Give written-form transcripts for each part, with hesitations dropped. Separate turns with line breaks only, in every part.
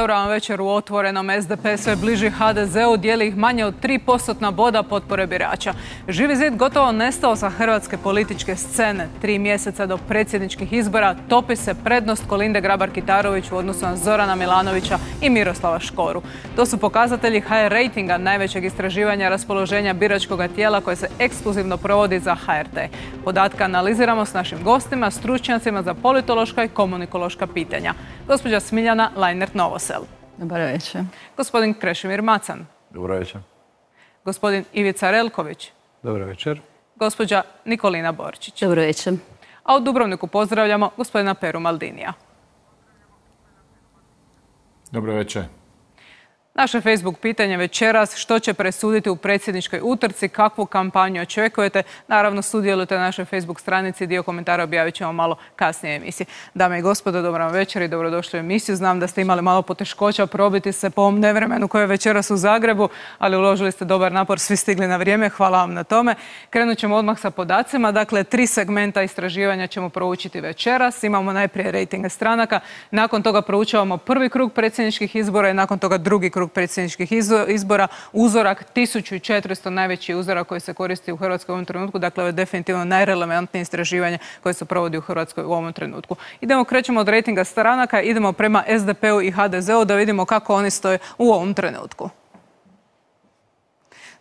Dobro vam večer u Otvorenom. SDP sve bliži HDZ-u, dijeli ih manje od 3% boda potpore birača. Živi zid gotovo nestao sa hrvatske političke scene. 3 mjeseca do predsjedničkih izbora topi se prednost Kolinde Grabar-Kitarović u odnosu na Zorana Milanovića i Miroslava Škoru. To su pokazatelji HR rejtinga, najvećeg istraživanja raspoloženja biračkog tijela koje se ekskluzivno provodi za HRT. Podatke analiziramo s našim gostima, stručnjacima za politološka i komunikološka pitanja. Gospođa Smiljana Lajnert-Novosel.
Dobar večer.
Gospodin Krešimir Macan.
Dobro večer.
Gospodin Ivica Relković.
Dobro večer.
Gospođa Nikolina Borčić.
Dobro večer.
A u Dubrovniku pozdravljamo gospodina Peru Maldinija.
Dobro večer.
Naše Facebook pitanje večeras: što će presuditi u predsjedničkoj utrci, kakvu kampanju očekujete? Naravno, sudjelujte na našoj Facebook stranici, dio komentara objavit ćemo malo kasnije emisiji. Dame i gospodo, dobro vam večer i dobrodošli u emisiju. Znam da ste imali malo poteškoća probiti se po ovom nevremenu koje je večeras u Zagrebu, ali uložili ste dobar napor, svi stigli na vrijeme, hvala vam na tome. Krenut ćemo odmah sa podacima. Dakle, 3 segmenta istraživanja ćemo proučiti večeras. Imamo najprije rejtinge stranaka, nakon toga proučavamo prvi krug predsjedničkih izbora i nakon toga drugi krug predsjedničkih izbora. Uzorak 1400, najveći uzorak koji se koristi u Hrvatskoj u ovom trenutku. Dakle, ovo je definitivno najrelevantnije istraživanje koje se provodi u Hrvatskoj u ovom trenutku. Krećemo od rejtinga stranaka, idemo prema SDP-u i HDZ-u da vidimo kako oni stoje u ovom trenutku.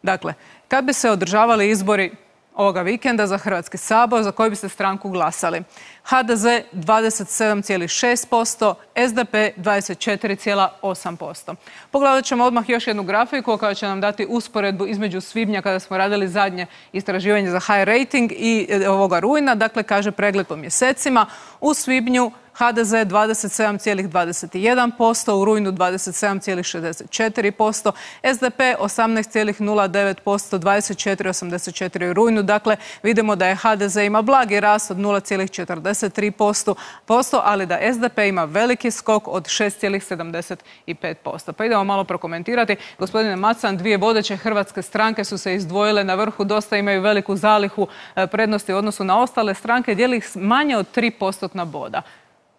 Dakle, kad bi se održavali izbori ovoga vikenda za Hrvatski sabor, za koju biste stranku glasali? HDZ 27,6%, SDP 24,8%. Pogledat ćemo odmah još jednu grafiku koja će nam dati usporedbu između svibnja kada smo radili zadnje istraživanje za HR rating i ovoga rujna. Dakle, kaže pregled po mjesecima. U svibnju HDZ 27,21%, u rujnu 27,64%, SDP 18,09%, 24,84% u rujnu. Dakle, vidimo da je HDZ ima blagi rast od 0,43%, ali da SDP ima veliki skok od 6,75%. Pa idemo malo prokomentirati. Gospodine Macan, 2 vodeće hrvatske stranke su se izdvojile na vrhu, dosta imaju veliku zalihu prednosti u odnosu na ostale stranke, dijeli ih manje od 3% boda.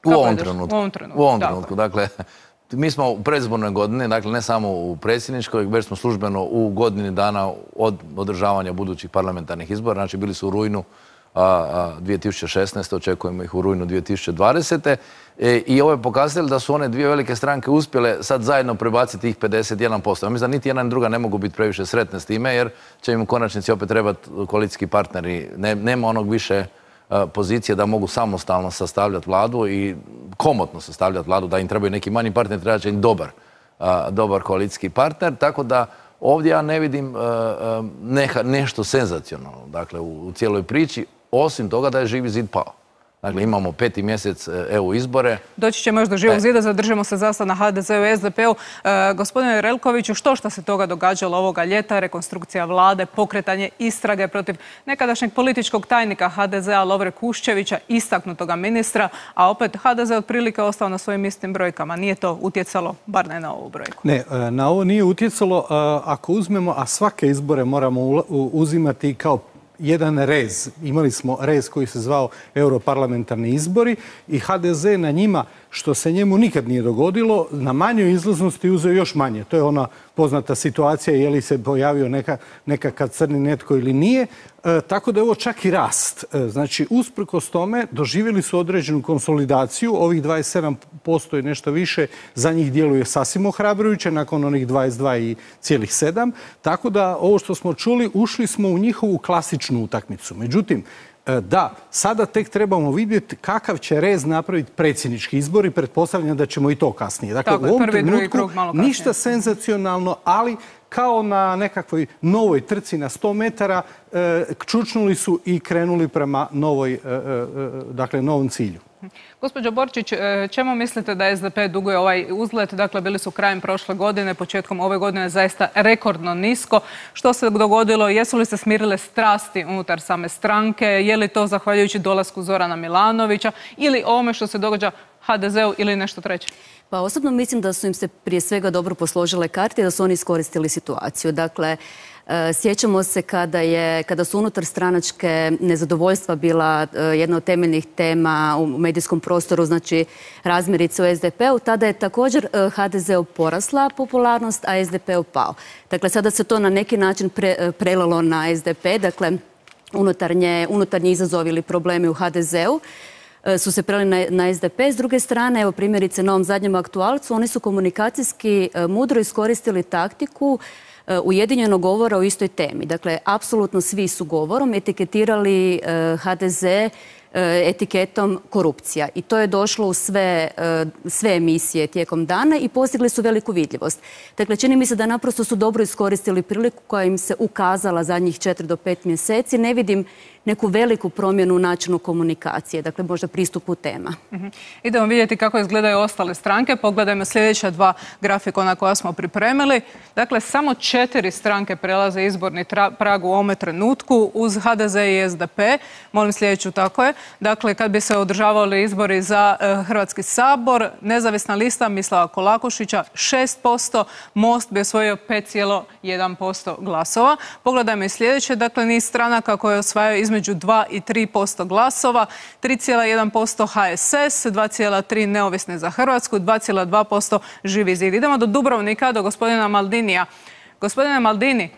U ovom trenutku. Dakle, mi smo u predizbornoj godini, dakle ne samo u predsjedničkoj, već smo službeno u godini dana od održavanja budućih parlamentarnih izbora. Znači, bili su u rujnu 2016. Očekujemo ih u rujnu 2020. I ovo je pokazatelj da su one 2 velike stranke uspjele sad zajedno prebaciti ih 51%. Ja mislim da niti jedna ni druga ne mogu biti previše sretne s time, jer će im u konačnici opet trebati koalicijski partneri. Nema onog više pozicije da mogu samostalno sastavljati vladu i komotno sastavljati vladu, da im trebaju neki manji partner, treba će im dobar koalicijski partner. Tako da ovdje ja ne vidim nešto senzacionalno, dakle, u cijeloj priči, osim toga da je Živi zid pao. Dakle, imamo 5. mjesec EU izbore.
Doći ćemo još do Živog zida, zadržimo se zasad na HDZ-u i SDP-u. Gospodine Relkoviću, što se toga događalo ovoga ljeta? Rekonstrukcija vlade, pokretanje istrage protiv nekadašnjeg političkog tajnika HDZ-a Lovre Kuščevića, istaknutoga ministra, a opet HDZ otprilike ostao na svojim istim brojkama. Nije to utjecalo, bar ne na ovu brojku?
Ne, na ovo nije utjecalo. Ako uzmemo, a svake izbore moramo uzimati kao jedan rez. Imali smo rez koji se zvao europarlamentarni izbori i HDZ na njima, što se njemu nikad nije dogodilo, na manjoj izlaznosti uzeo još manje. To je ona poznata situacija, je li se pojavio nekakav crni netko ili nije. Tako da je ovo čak i rast. Znači, usprkos tome doživjeli su određenu konsolidaciju. Ovih 27% i nešto više za njih djeluje sasvim ohrabrujuće nakon onih 22,7%. Tako da ovo što smo čuli, ušli smo u njihovu klasičnu utakmicu. Međutim, da, sada tek trebamo vidjeti kakav će rez napraviti predsjednički izbori. Pretpostavljam da ćemo i to kasnije. Dakle, u ovom trenutku ništa senzacionalno, ali kao na nekakvoj novoj trci na 100 metara čučnuli su i krenuli prema novom cilju.
Gospođo Borčić, čemu mislite da SDP duguje ovaj uzlet? Dakle, bili su krajem prošle godine, početkom ove godine zaista rekordno nisko. Što se dogodilo? Jesu li se smirile strasti unutar same stranke? Je li to zahvaljujući dolasku Zorana Milanovića ili ovome što se događa HDZ-u ili nešto treće?
Pa osobno mislim da su im se prije svega dobro posložile karte i da su oni iskoristili situaciju. Dakle, Sjećamo se kada su unutar stranačke nezadovoljstva bila jedna od temeljnih tema u medijskom prostoru, znači razmirice u SDP-u, tada je također HDZ-u porasla popularnost, a SDP-u pao. Dakle, sada se to na neki način prelilo na SDP, dakle, unutarnji izazovi ili problemi u HDZ-u su se prelili na SDP. S druge strane, evo primjerice na ovom zadnjem aktualcu, oni su komunikacijski mudro iskoristili taktiku ujedinjenog govora o istoj temi. Dakle, apsolutno svi su govorom etiketirali HDZ etiketom korupcija. I to je došlo u sve emisije tijekom dana i postigli su veliku vidljivost. Dakle, čini mi se da naprosto su dobro iskoristili priliku koja im se ukazala zadnjih 4 do 5 mjeseci. Ne vidim neku veliku promjenu u načinu komunikacije, dakle možda pristupu tema.
Idemo vidjeti kako izgledaju ostale stranke. Pogledajmo sljedeća dva grafikona koja smo pripremili. Dakle, samo 4 stranke prelaze izborni prag u ovome trenutku uz HDZ i SDP. Molim sljedeću, tako je. Dakle, kad bi se održavali izbori za Hrvatski sabor, nezavisna lista Mislava Kolakušića 6%, Most bi osvojio 5,1% glasova. Pogledajmo i sljedeće, dakle niz stranaka koje osvajaju između 2 i 3% glasova, 3,1% HSS, 2,3% Neovisni za Hrvatsku, 2,2% Živi zid. Idemo do Dubrovnika, do gospodina Maldinija. Gospodine Maldini,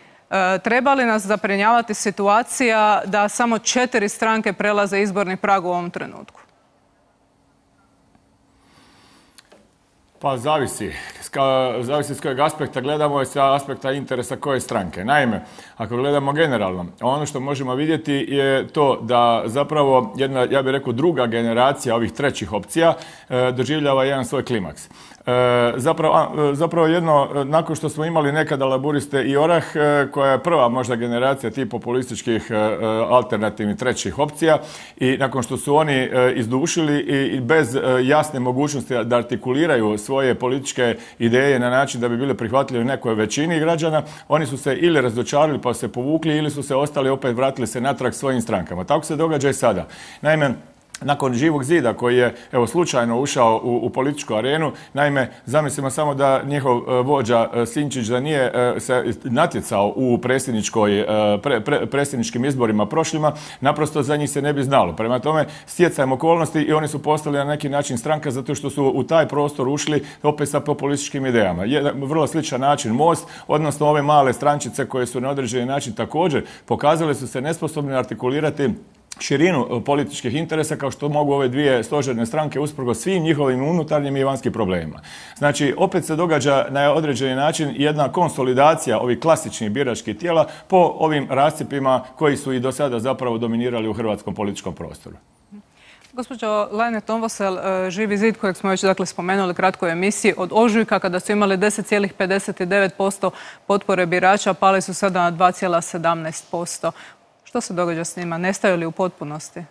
treba li nas zabrinjavati situacija da samo 4 stranke prelaze izborni prag u ovom trenutku?
Pa zavisi. Zavisi s kojeg aspekta gledamo i sa aspekta interesa koje stranke. Naime, ako gledamo generalno, ono što možemo vidjeti je to da zapravo jedna, ja bih rekao, druga generacija ovih trećih opcija doživljava jedan svoj klimaks. Zapravo jedno, nakon što smo imali nekada Laburiste i Orah, koja je prva možda generacija tih populističkih alternativnih trećih opcija, i nakon što su oni izdušili i bez jasne mogućnosti da artikuliraju svoje političke ideje na način da bi bile prihvatljive nekoj većini građana, oni su se ili razočarali pa se povukli ili su se ostali, opet vratili se natrag svojim strankama. Tako se događa i sada. Naime, nakon Živog zida koji je slučajno ušao u političku arenu, naime, zamislimo samo da njihov vođa Sinčić da nije se natjecao u predsjedničkim izborima prošlima, naprosto za njih se ne bi znalo. Prema tome, stjecajem okolnosti i oni su postali na neki način stranka zato što su u taj prostor ušli opet sa populističkim idejama. Vrlo sličan način Most, odnosno ove male strančice koje su na određeni način također pokazale su se nesposobni artikulirati širinu političkih interesa kao što mogu ove dvije stožerne stranke usprkos svim njihovim unutarnjim i vanjskim problemima. Znači, opet se događa na određeni način jedna konsolidacija ovih klasičnih biračkih tijela po ovim rascjepima koji su i do sada zapravo dominirali u hrvatskom političkom prostoru.
Gospođo Lajne-Tombosel, Živi zid kojeg smo već spomenuli kratko u emisiji, od ožujka kada su imali 10,59% potpore birača, pali su sada na 2,17%. Što se događa s njima? Nestaju li u potpunosti?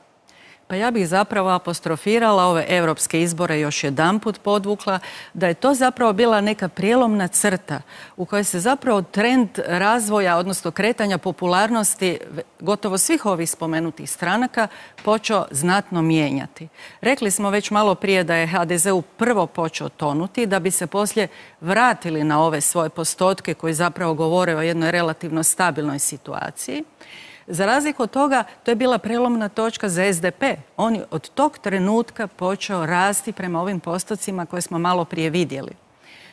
Pa ja bih zapravo apostrofirala ove europske izbore, još jedanput podvukla da je to zapravo bila neka prijelomna crta u kojoj se zapravo trend razvoja, odnosno kretanja popularnosti gotovo svih ovih spomenutih stranaka počeo znatno mijenjati. Rekli smo već malo prije da je HDZ-u prvo počeo tonuti, da bi se poslije vratili na ove svoje postotke koji zapravo govore o jednoj relativno stabilnoj situaciji. Za razliku od toga, to je bila prelomna točka za SDP. On je od tog trenutka počeo rasti prema ovim postocima koje smo malo prije vidjeli.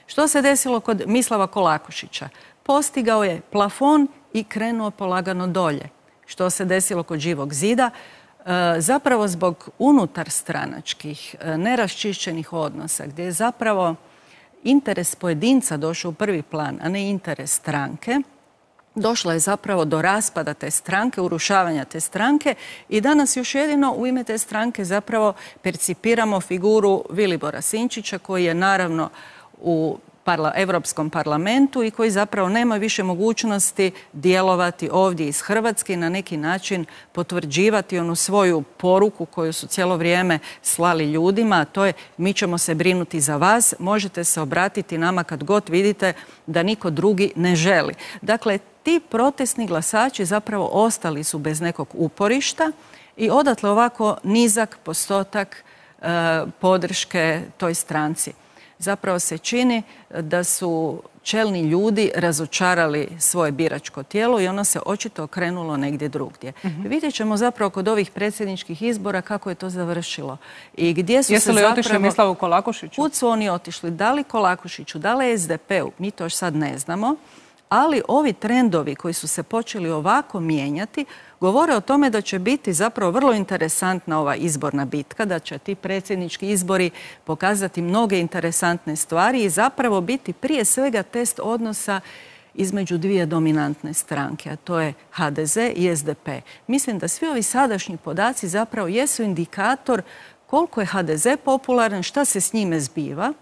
Što se desilo kod Mislava Kolakušića? Postigao je plafon i krenuo polagano dolje. Što se desilo kod Živog zida? Zapravo zbog unutar stranačkih, neraščišćenih odnosa, gdje je zapravo interes pojedinca došao u prvi plan, a ne interes stranke, došlo je zapravo do raspada te stranke, urušavanja te stranke i danas još jedino u ime te stranke zapravo percipiramo figuru Vilibora Sinčića koji je naravno u Europskom parlamentu i koji zapravo nema više mogućnosti djelovati ovdje iz Hrvatske i na neki način potvrđivati onu svoju poruku koju su cijelo vrijeme slali ljudima, a to je mi ćemo se brinuti za vas, možete se obratiti nama kad god vidite da niko drugi ne želi. Dakle, ti protestni glasači zapravo ostali su bez nekog uporišta i odatle ovako nizak postotak podrške toj stranci. Zapravo se čini da su čelni ljudi razočarali svoje biračko tijelo i ono se očito okrenulo negdje drugdje. Vidjet ćemo zapravo kod ovih predsjedničkih izbora kako je to završilo. I gdje su
Jesu li otišli Mislavu Kolakušiću?
Kud su oni otišli? Da li Kolakušiću, da li SDP-u? Mi to još sad ne znamo. Ali ovi trendovi koji su se počeli ovako mijenjati govore o tome da će biti zapravo vrlo interesantna ova izborna bitka, da će ti predsjednički izbori pokazati mnoge interesantne stvari i zapravo biti prije svega test odnosa između dvije dominantne stranke, a to je HDZ i SDP. Mislim da svi ovi sadašnji podaci zapravo jesu indikator koliko je HDZ popularan, šta se s njime zbiva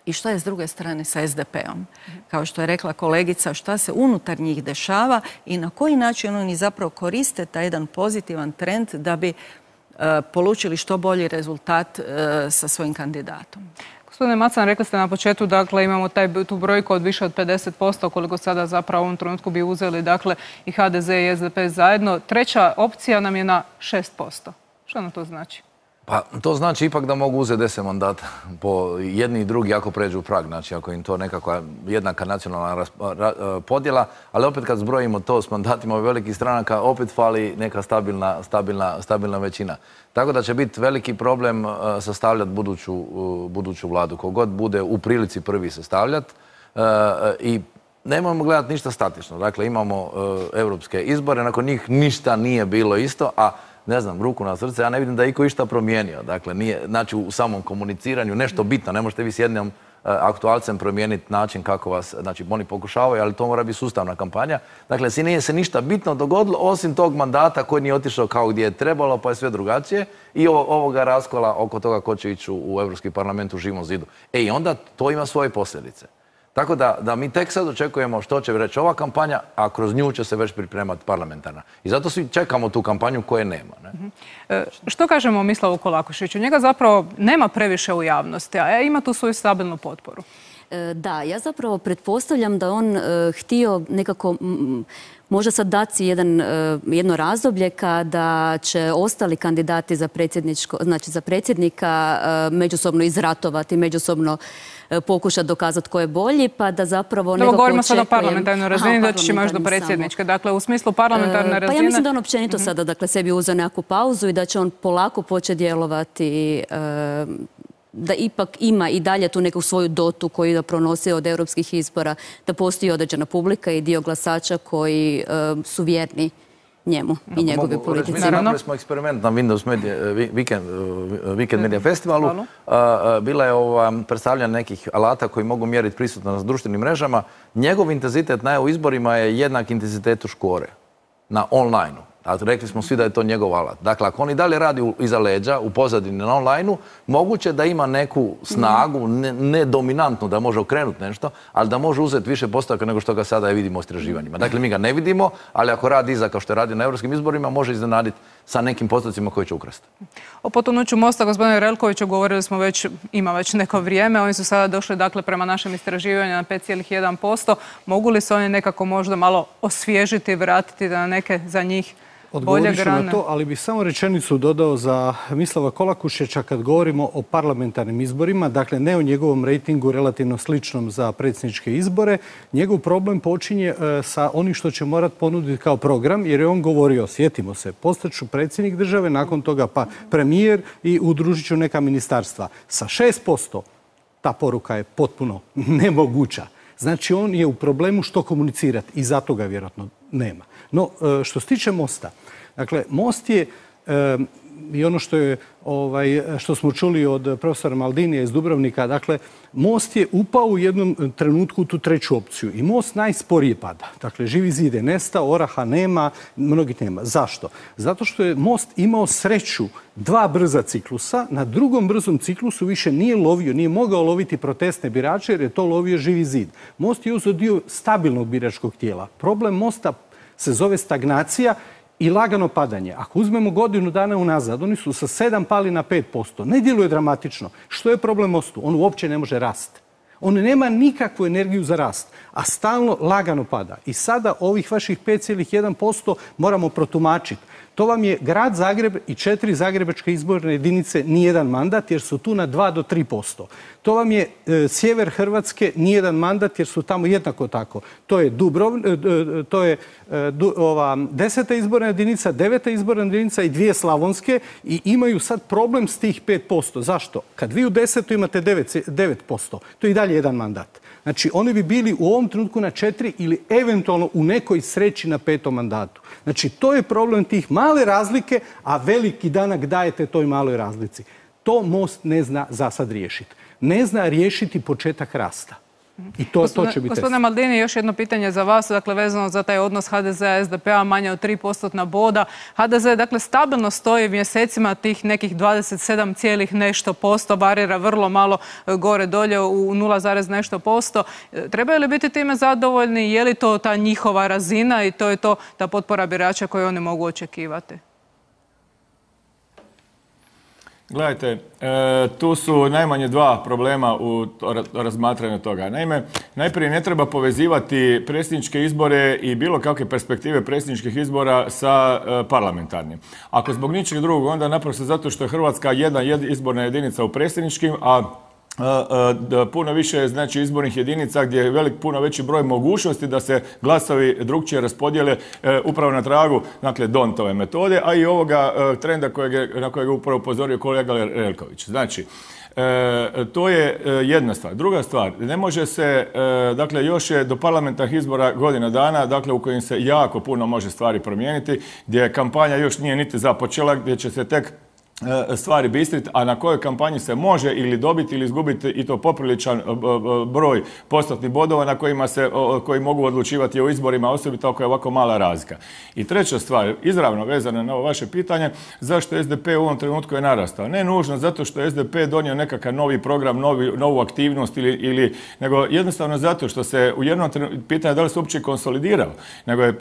i šta je s druge strane sa SDP-om. Kao što je rekla kolegica, šta se unutar njih dešava i na koji način oni zapravo koriste taj jedan pozitivan trend da bi polučili što bolji rezultat sa svojim kandidatom.
Gospodine Macan, rekli ste na početku, dakle, imamo tu brojku od više od 50%, koliko sada zapravo u ovom trenutku bi uzeli, dakle, i HDZ i SDP zajedno. Treća opcija nam je na 6%. Što nam to znači?
Pa to znači ipak da mogu uzeti 10 mandata po jedni i drugi ako pređu prag, znači ako im to nekakva jednaka nacionalna podjela, ali opet kad zbrojimo to s mandatima velikih stranaka, opet fali neka stabilna većina. Tako da će biti veliki problem sastavljati buduću vladu. Kogod bude u prilici prvi sastavljati i nemojmo gledati ništa statično. Dakle, imamo europske izbore, nakon njih ništa nije bilo isto, a ne znam, ruku na srce, ja ne vidim da je iko išta promijenio. Dakle, nije, znači u samom komuniciranju nešto bitno. Ne možete vi s jednim aktualcem promijeniti način kako vas, znači oni pokušavaju, ali to mora biti sustavna kampanja. Dakle, nije se ništa bitno dogodilo, osim tog mandata koji nije otišao kao gdje je trebalo, pa je sve drugačije. I ovoga raskola oko toga ko će ići u Europski parlament u Živom zidu. I onda to ima svoje posljedice. Tako da mi tek sad očekujemo što će reći ova kampanja, a kroz nju će se već pripremati parlamentarna. I zato svi čekamo tu kampanju koje nema. Ne?
Što kažemo o Mislavu Kolakušiću? Njega zapravo nema previše u javnosti, a ima tu svoju stabilnu potporu.
Da, ja zapravo pretpostavljam da on htio nekako možda sad dati jedno razdoblje kada će ostali kandidati za predsjednika međusobno izratovati, međusobno pokušati dokazati ko je bolji, pa da zapravo nekako
govorimo sad o parlamentarnoj razini, da ćemo još do predsjedničke. Dakle, u smislu parlamentarne razine...
Pa ja mislim da on općenito sada, dakle, sebi uzeo nekakvu pauzu i da će on polako početi djelovati, da ipak ima i dalje tu neku svoju dotu koju da pronosi od europskih izbora, da postoji određena publika i dio glasača koji su vjerni njemu i njegove politici.
Napravili smo eksperiment na Windows Weekend Media Festivalu. Bila je predstavljanje nekih alata koji mogu mjeriti prisutnost na društvenim mrežama. Njegov intenzitet na EU izborima je jednak intenzitetu Škore na online-u. Rekli smo svi da je to njegov alat. Dakle, ako on i dalje radi iza leđa, u pozadini na online-u, moguće da ima neku snagu, ne dominantnu, da može okrenuti nešto, ali da može uzeti više postotaka nego što ga sada vidimo u istraživanjima. Dakle, mi ga ne vidimo, ali ako radi iza, kao što je radio na europskim izborima, može iznenaditi sa nekim postocima koji će ukrasti.
O potonuću Mosta, gospodine Relkoviću, govorili smo ima već neko vrijeme. Oni su sada došli, dakle, prema našem istraživanju na 5,1%. Mogu li se oni nekako možda malo osvježiti, vratiti na neke za njih
Odgovorit ću na to, ali bih samo rečenicu dodao za Mislava Kolakušića kad govorimo o parlamentarnim izborima, dakle ne o njegovom rejtingu relativno sličnom za predsjedničke izbore. Njegov problem počinje sa onim što će morat ponuditi kao program, jer je on govorio, sjetimo se, postaću predsjednik države, nakon toga pa premijer i udružit ću neka ministarstva. Sa 6% ta poruka je potpuno nemoguća. Znači on je u problemu što komunicirati i zato ga vjerojatno nema. No, što se tiče Mosta, dakle, Most je i ono što smo čuli od profesora Maldinija iz Dubrovnika, dakle, Most je upao u jednom trenutku u tu treću opciju i Most najsporije pada. Dakle, Živi zid je nestao, Oraha nema, mnogih nema. Zašto? Zato što je Most imao sreću 2 brza ciklusa, na drugom brzom ciklusu više nije mogao loviti protestne birače jer je to lovio Živi zid. Most je uzeo dio stabilnog biračkog tijela. Problem Mosta se zove stagnacija i lagano padanje. Ako uzmemo godinu dana unazad, oni su sa 7 pali na 5%. Ne djeluje dramatično. Što je problem Mostu? On uopće ne može rasti. On nema nikakvu energiju za rast, a stalno lagano pada. I sada ovih vaših 5,1% moramo protumačiti. To vam je grad Zagreb i 4 zagrebačke izborne jedinice nijedan mandat jer su tu na 2 do 3%. To vam je sjever Hrvatske nijedan mandat jer su tamo jednako tako. To je 10. izborna jedinica, 9. izborna jedinica i 2 slavonske i imaju sad problem s tih 5%. Zašto? Kad vi u 10. imate 9%, to je i dalje jedan mandat. Znači, oni bi bili u ovom trenutku na 4 ili eventualno u nekoj sreći na 5. mandatu. Znači, to je problem tih male razlike, a veliki danak dajete toj maloj razlici. To Most ne zna za sad riješiti. Ne zna riješiti početak rasta. I to će biti test.
Gospodine Maldini, još jedno pitanje za vas, dakle vezano za taj odnos HDZ-a i SDP-a, manje od 3% boda. HDZ dakle stabilno stoji mjesecima tih nekih 27, nešto posto, varira vrlo malo gore dolje u 0, nešto posto. Trebaju li biti time zadovoljni? Je li to ta njihova razina i to je to ta potpora birača koju oni mogu očekivati?
Gledajte, tu su najmanje 2 problema u razmatranju toga. Naime, najprije ne treba povezivati predsjedničke izbore i bilo kakve perspektive predsjedničkih izbora sa parlamentarnim. Ako zbog ničeg drugog, onda naprosto zato što je Hrvatska jedna izborna jedinica u predsjedničkim, a puno više znači izbornih jedinica gdje je puno veći broj mogućnosti da se glasovi drukčije raspodijele upravo na tragu, dakle, Dontove metode, a i ovoga trenda na kojeg je upravo upozorio kolega Relković. Znači, to je jedna stvar. Druga stvar, ne može se, dakle, još je do parlamentarnih izbora godina dana, dakle, u kojim se jako puno može stvari promijeniti, gdje kampanja još nije niti započela, gdje će se tek stvari bistriti, a na kojoj kampanji se može ili dobiti ili izgubiti i to popriličan broj postotnih bodova na koji mogu odlučivati o izborima, osobito ako je ovako mala razlika. I treća stvar, izravno vezana na ovo vaše pitanje, zašto SDP u ovom trenutku je narastao? Ne nužno zato što je SDP donio nekakav novi program, novu aktivnost nego jednostavno zato što se u jednom trenutku, pitanje da li se uopće konsolidirao, nego je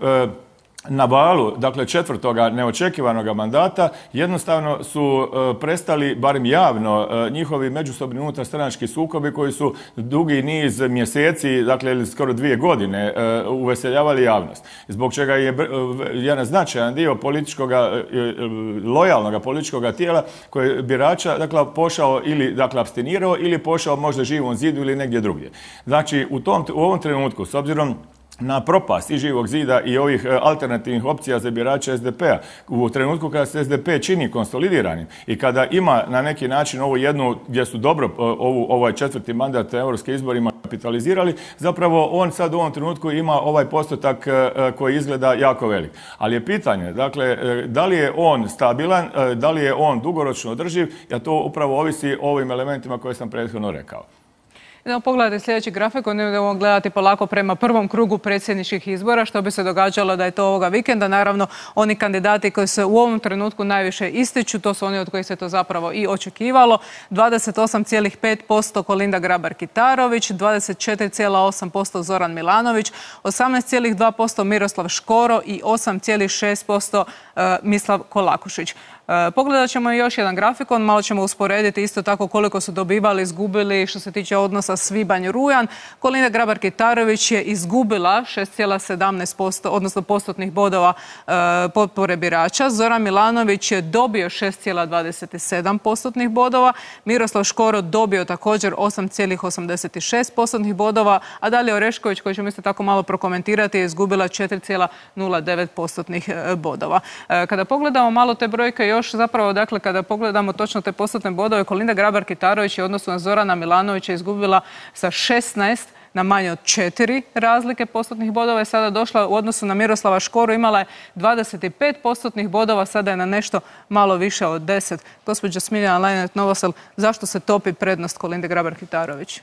na valu, dakle, 4. neočekivanog mandata, jednostavno su prestali, barem javno, njihovi međusobni unutarstranački sukobi koji su dugi niz mjeseci, dakle, skoro 2 godine, uveseljavali javnost. Zbog čega je jedan značajan dio lojalnog političkog tijela koji je birača, dakle, pošao ili, dakle, apstinirao ili pošao možda Živom zidu ili negdje drugdje. Znači, u ovom trenutku, s obzirom na propast i Živog zida i ovih alternativnih opcija za birače SDP-a, u trenutku kada se SDP čini konsolidiranim i kada ima na neki način ovu jednu, gdje su dobro ovaj 4. mandat europskim izborima kapitalizirali, zapravo on sad u ovom trenutku ima ovaj postotak koji izgleda jako velik. Ali je pitanje, dakle, da li je on stabilan, da li je on dugoročno održiv, a to upravo ovisi o ovim elementima koje sam prethodno rekao.
Idemo pogledati sljedeći grafikon, idemo gledati polako prema prvom krugu predsjedničkih izbora, što bi se događalo da je to ovoga vikenda. Naravno, oni kandidati koji se u ovom trenutku najviše ističu, to su oni od kojih se to zapravo i očekivalo. 28,5% Kolinda Grabar-Kitarović, 24,8% Zoran Milanović, 18,2% Miroslav Škoro i 8,6% Mislav Kolakušić. Pogledat ćemo još jedan grafikon, malo ćemo usporediti isto tako koliko su dobivali, izgubili što se tiče odnosa svibanj-rujan. Kolinda Grabar-Kitarović je izgubila 6,17%, odnosno postotnih bodova potpore birača. Zoran Milanović je dobio 6,27 postotnih bodova. Miroslav Škoro dobio također 8,86 postotnih bodova, a Dalija Orešković, koju ćemo isto tako malo prokomentirati, je izgubila 4,09 postotnih bodova. Kada pogledamo malo te brojke još zapravo, dakle, kada pogledamo točno te postotne bodove, Kolinda Grabar-Kitarović je u odnosu na Zorana Milanovića izgubila sa 16 na manje od 4 razlike postotnih bodova, je sada došla u odnosu na Miroslava Škoru, imala je 25 postotnih bodova, sada je na nešto malo više od 10. Gospođa Smiljana Lajnet-Novosel, zašto se topi prednost Kolinde Grabar-Kitarović?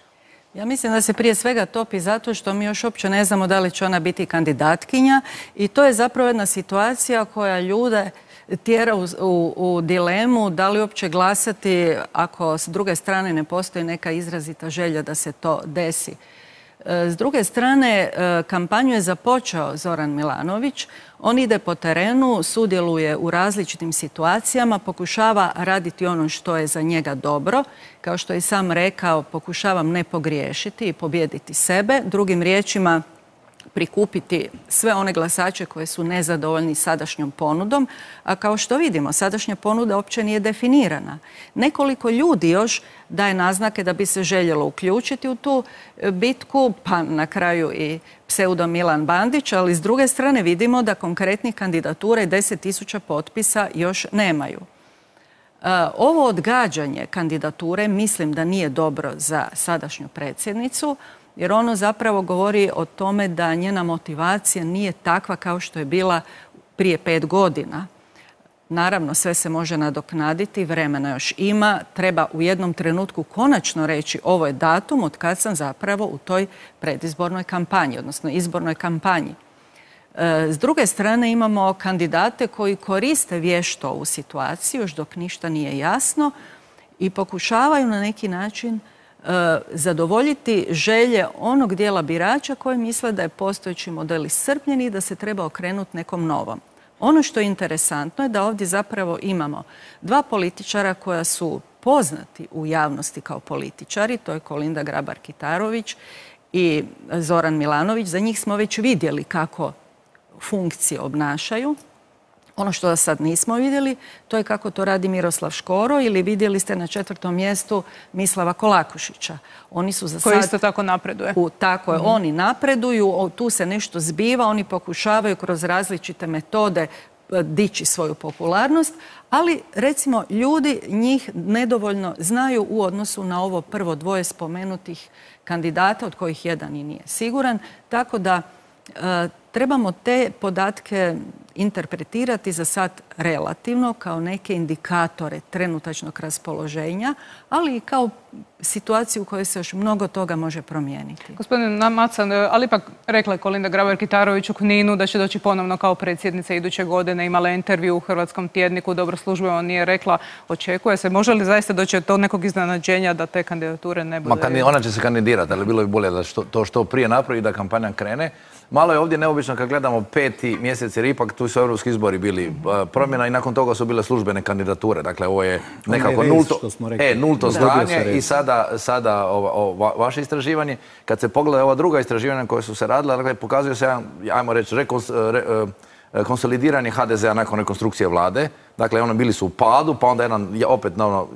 Ja mislim da se prije svega topi zato što mi još uopće ne znamo da li će ona biti kandidatkinja i to je zapravo jedna situacija koja ljude tjera u dilemu da li uopće glasati ako s druge strane ne postoji neka izrazita želja da se to desi. S druge strane, kampanju je započeo Zoran Milanović. On ide po terenu, sudjeluje u različitim situacijama, pokušava raditi ono što je za njega dobro. Kao što je i sam rekao, pokušavam ne pogriješiti i pobijediti sebe. Drugim riječima, prikupiti sve one glasače koji su nezadovoljni sadašnjom ponudom, a kao što vidimo, sadašnja ponuda uopće nije definirana. Nekoliko ljudi još daje naznake da bi se željelo uključiti u tu bitku, pa na kraju i pseudo Milan Bandić, ali s druge strane vidimo da konkretnih kandidatura i 10.000 potpisa još nemaju. Ovo odgađanje kandidature mislim da nije dobro za sadašnju predsjednicu, jer ono zapravo govori o tome da njena motivacija nije takva kao što je bila prije 5 godina. Naravno, sve se može nadoknaditi, vremena još ima. Treba u jednom trenutku konačno reći ovo je datum od kad sam zapravo u toj predizbornoj kampanji, odnosno izbornoj kampanji. S druge strane imamo kandidate koji koriste vješto ovu situaciju, još dok ništa nije jasno, i pokušavaju na neki način zadovoljiti želje onog dijela birača koji misle da je postojeći model iscrpljen i da se treba okrenuti nekom novom. Ono što je interesantno je da ovdje zapravo imamo 2 političara koja su poznati u javnosti kao političari, to je Kolinda Grabar-Kitarović i Zoran Milanović. Za njih smo već vidjeli kako funkcije obnašaju. Ono što sad nismo vidjeli, to je kako to radi Miroslav Škoro, ili vidjeli ste na 4. mjestu Mislava Kolakušića. Oni su za sad...
Koji isto tako napreduje.
Tako je, oni napreduju, tu se nešto zbiva, oni pokušavaju kroz različite metode dići svoju popularnost, ali recimo ljudi njih nedovoljno znaju u odnosu na ovo prvo 2 spomenutih kandidata, od kojih jedan i nije siguran, tako da trebamo te podatke interpretirati za sad relativno kao neke indikatore trenutačnog raspoloženja, ali i kao situaciju u kojoj se još mnogo toga može promijeniti.
Gospodin Macan, ali ipak rekla je Kolinda Grabar-Kitarović u Kninu da će doći ponovno kao predsjednica iduće godine. Imala je intervju u Hrvatskom tjedniku, dobro službeno nije rekla, očekuje se. Može li zaista doći do nekog iznenađenja da te kandidature ne bude?
Ona će se kandidirati, ali bilo bi bolje da to što prije napravi, da kampanja krene. Malo je ovdje neobično kad gledamo 5. mjesec, jer ipak tu su europski izbori bili promjena i nakon toga su bile službene kandidature. Dakle, ovo je nekako nulto stanje i sada vaše istraživanje. Kad se pogleda ova druga istraživanja koja su se radila, dakle, pokazuje se, ajmo reći, konsolidiranje HDZ-a nakon rekonstrukcije vlade. Dakle, ono bili su u padu, pa onda jedan opet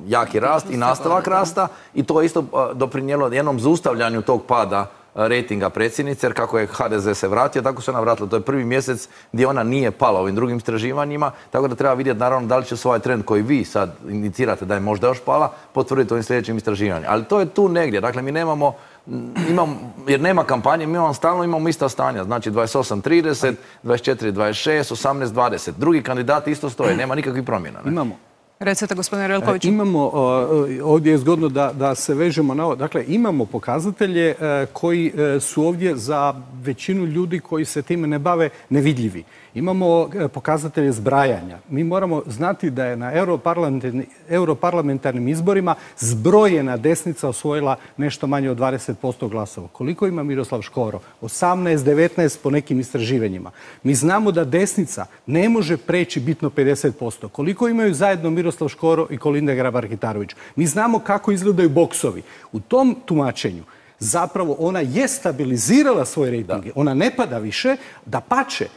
jaki rast i nastavak rasta i to je isto doprinijelo jednom zaustavljanju tog pada rejtinga predsjednice, jer kako je HDZ se vratio, tako se ona vratila. To je 1. mjesec gdje ona nije pala ovim drugim istraživanjima, tako da treba vidjeti naravno da li će svoj trend koji vi sad indicirate da je možda još pala, potvrditi ovim sljedećim istraživanjem. Ali to je tu negdje. Dakle, mi nemamo, jer nema kampanje, mi stalno imamo ista stanja. Znači 28-30, 24-26, 18-20. Drugi kandidati isto stoje, nema nikakvih promjena.
Imamo.
Recite, gospodine Relkoviću.
Imamo, ovdje je zgodno da se vežemo na ovo. Dakle, imamo pokazatelje koji su ovdje za većinu ljudi koji se time ne bave nevidljivi. Imamo pokazatelje zbrajanja. Mi moramo znati da je na europarlamentarnim izborima zbrojena desnica osvojila nešto manje od 20% glasova. Koliko ima Miroslav Škoro? 18-19 po nekim istraživanjima. Mi znamo da desnica ne može preći bitno 50%. Koliko imaju zajedno Miroslav Škoro i Kolinda Grabar-Kitarović? Mi znamo kako izgledaju boksovi. U tom tumačenju zapravo ona je stabilizirala svoje rejtinge. Ona ne pada više, dapače.